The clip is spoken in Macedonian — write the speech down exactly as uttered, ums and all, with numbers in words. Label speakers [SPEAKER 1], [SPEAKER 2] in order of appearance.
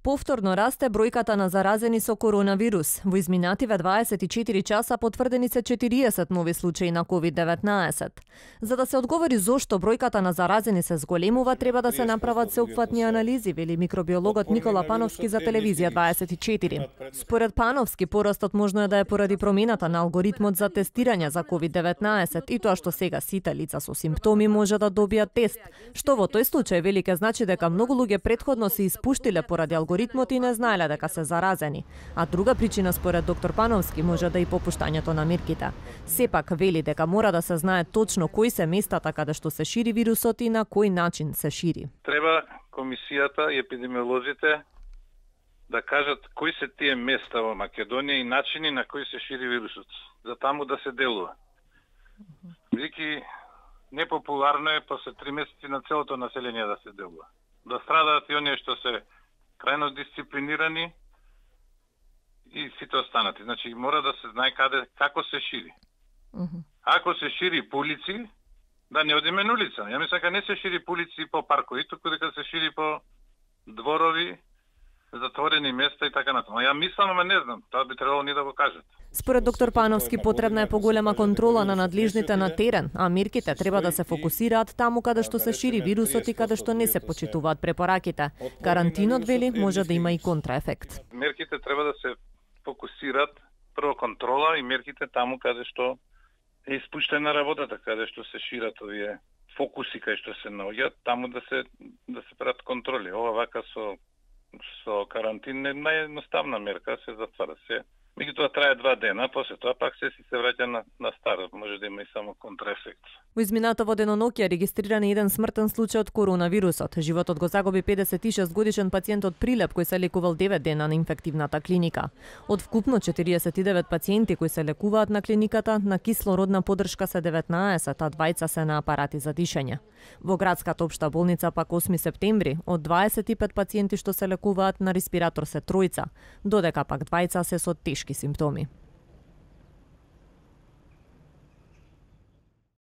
[SPEAKER 1] Повторно расте бројката на заразени со коронавирус. Во изминативе дваесет и четири часа потврдени се четириесет нови случаи на ковид деветнаесет. За да се одговори зошто бројката на заразени се зголемува, треба да се направат сеопфатни анализи, вели микробиологот Никола Пановски за телевизија дваесет и четири. Според Пановски, порастот можно е да е поради промената на алгоритмот за тестирање за ковид деветнаесет и тоа што сега сите лица со симптоми може да добијат тест, што во тој случај вели ке значи дека многу луѓе претходно се испуштиле поради алгоритмот и не знаеле дека се заразени. А друга причина според доктор Пановски може да и попуштањето на мерките. Сепак вели дека мора да се знае точно кои се местата каде што се шири вирусот и на кој начин се шири.
[SPEAKER 2] Треба комисијата и епидемиолозите да кажат кои се тие места во Македонија и начини на кои се шири вирусот, за таму да се делува. Бидејќи непопуларно е после три месеци на целото население да се делува. Да страдаат и оние што се крајно дисциплинирани и сите останати. Значи мора да се знае каде како се шири. Uh -huh. Ако се шири по улици, да не одиме на улица. Ја мислам дека не се шири по улици и по паркови, туку дека се шири по дворови, затворени места и така натаму. Ја мислам, ама не знам, тоа би требало ни да го кажат.
[SPEAKER 1] Според доктор Пановски потребна е поголема контрола на надлежните на терен, а мерките треба да се фокусираат таму каде што се шири вирусот и каде што не се почитуваат препораките. Карантинот, вели, може да има и контраефект.
[SPEAKER 2] Мерките треба да се фокусираат прво контрола и мерките таму каде што е испуштена работата, каде што се шират овие фокуси кај што се наоѓаат, таму да се да се прават контроли. Ова вака со со карантин е наједноставна мерка, се затвара се. Меѓутоа трае два дена, после тоа пак се си се враќа на, на старо, може да има и само контраефект.
[SPEAKER 1] Во изминатово денонокие е регистриран еден смртен случај од коронавирусот. Животот го загуби педесет и шест годишен пациент од Прилеп кој се лекувал девет дена на инфективната клиника. Од вкупно четириесет и девет пациенти кои се лекуваат на клиниката, на кислородна поддршка се деветнаесет, а двајца се на апарати за дишење. Во градската општа болница пак осми септември, од дваесет и пет пациенти што се лекуваат на респиратор се тројца, додека пак двајца се со тешки симптоми.